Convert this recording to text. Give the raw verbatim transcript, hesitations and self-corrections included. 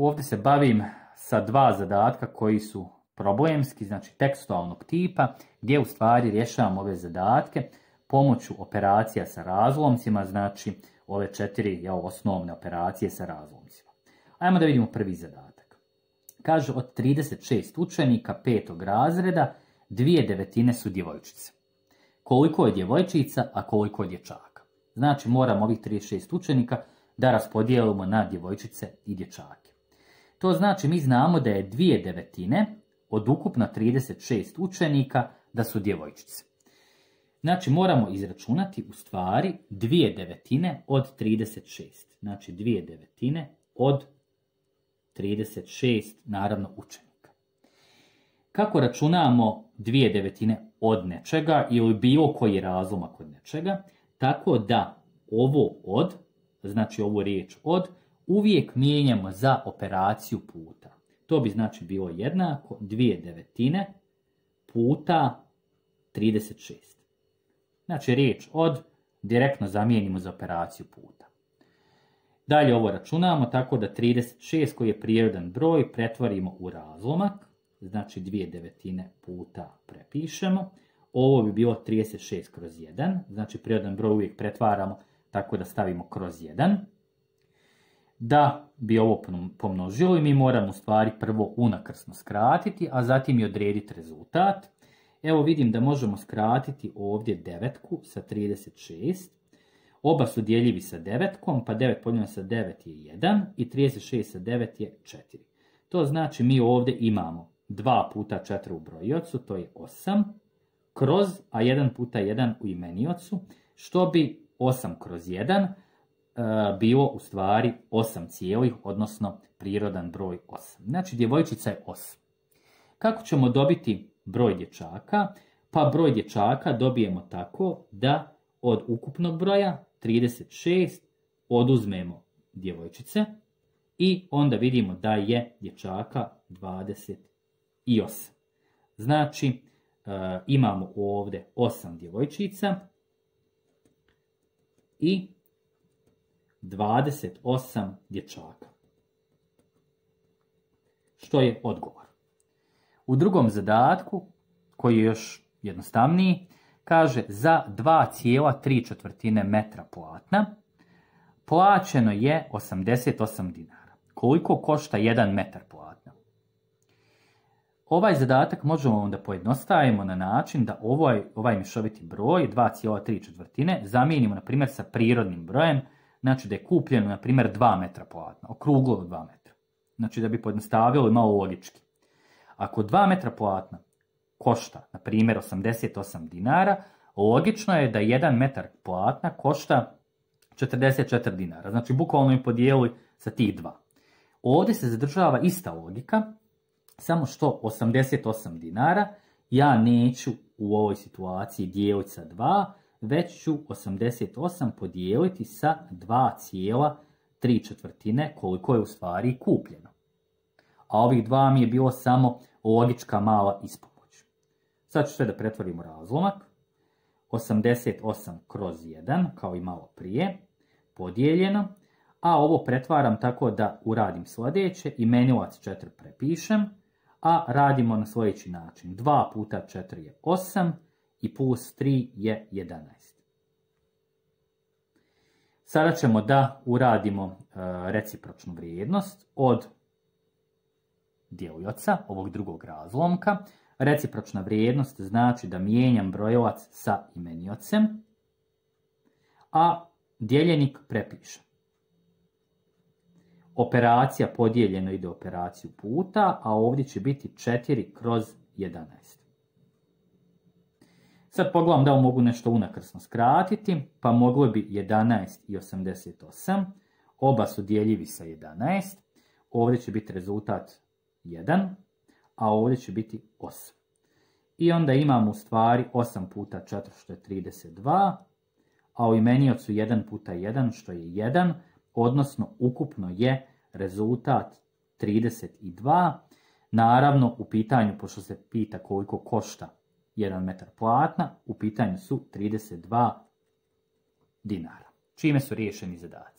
ovdje se bavim sa dva zadatka koji su problemski, znači tekstualnog tipa, gdje u stvari rješavam ove zadatke pomoću operacija sa razlomcima, znači ove četiri jel, osnovne operacije sa razlomcima. Ajmo da vidimo prvi zadatak. Kaže, od trideset šest učenika petog razreda, dvije devetine su djevojčice. Koliko je djevojčica, a koliko je dječaka? Znači, moramo ovih trideset šest učenika da raspodijelimo na djevojčice i dječake. To znači, mi znamo da je dvije devetine od ukupno trideset šest učenika da su djevojčice. Znači, moramo izračunati u stvari dvije devetine od trideset šest. Znači, dvije devetine od trideset šest, naravno, učenika. Kako računamo dvije devetine od nečega ili bilo koji razlomak od nečega? Tako da ovo od, znači ovu riječ od, uvijek mijenjamo za operaciju puta. To bi znači bilo jednako dvije devetine puta trideset šest. Znači riječ od direktno zamijenimo za operaciju puta. Dalje ovo računamo tako da trideset šest koji je prirodan broj pretvorimo u razlomak. Znači dvije devetine puta prepišemo. Ovo bi bilo trideset šest kroz jedan. Znači prirodan broj uvijek pretvaramo tako da stavimo kroz jedan. Da bi ovo pomnožili, mi moramo u stvari prvo unakrsno skratiti, a zatim i odrediti rezultat. Evo vidim da možemo skratiti ovdje devetku sa trideset šest. Oba su dijeljivi sa devetkom, pa devet podijeljeno sa devet je jedan i trideset šest sa devet je četiri. To znači mi ovdje imamo dva puta četiri u brojiocu, to je osam, kroz, a jedan puta jedan u imeniocu, što bi osam kroz jedan e, bilo u stvari osam cijelih, odnosno prirodan broj osam. Znači djevojčica je osam. Kako ćemo dobiti broj dječaka? Pa broj dječaka dobijemo tako da od ukupnog broja trideset šest oduzmemo djevojčice i onda vidimo da je dječaka dvadeset osam. Znači e, imamo ovdje osam djevojčica i dvadeset osam dječaka. Što je odgovor? U drugom zadatku, koji je još jednostavniji, kaže za dva zarez tri četvrtine metra platna plaćeno je osamdeset osam dinara. Koliko košta jedan metar platna? Ovaj zadatak možemo onda pojednostavimo na način da ovaj, ovaj mješoviti broj dva zarez tri četvrtine zamijenimo na primjer sa prirodnim brojem, znači da je kupljeno na primjer dva metra platna, okruglo dva metra. Znači da bi pojednostavili malo logički. Ako dva metra platna košta, na primjer, osamdeset osam dinara, logično je da jedan metar platna košta četrdeset četiri dinara. Znači, bukvalno im podijeli sa tih dva. Ovdje se zadržava ista logika, samo što osamdeset osam dinara ja neću u ovoj situaciji dijeliti sa dva, već ću osamdeset osam podijeliti sa dva zarez tri četvrtine koliko je u stvari kupljeno. A ovih dva mi je bilo samo logička mala ispomoć. Sad ću sve da pretvorim u razlomak. osamdeset osam kroz jedan, kao i malo prije, podijeljeno. A ovo pretvaram tako da uradim sljedeće. Imenilac četiri prepišem, a radimo na sljedeći način. dva puta četiri je osam i plus tri je jedanaest. Sada ćemo da uradimo e, recipročnu vrijednost od djelioca, ovog drugog razlomka. Recipročna vrijednost znači da mijenjam brojilac sa imeniocem, a dijeljenik prepišem. Operacija podijeljeno ide operaciju puta, a ovdje će biti četiri kroz jedanaest. Sad pogledam da li mogu nešto unakrsno skratiti, pa moglo bi jedanaest i osamdeset osam. Oba su dijeljivi sa jedanaest. Ovdje će biti rezultat jedan, a ovdje će biti osam. I onda imamo u stvari osam puta četiri što je trideset dva, a u imeniocu jedan puta jedan što je jedan, odnosno ukupno je rezultat trideset dva. Naravno u pitanju, pošto se pita koliko košta jedan metar platna, u pitanju su trideset dva dinara. Čime su riješeni zadaci?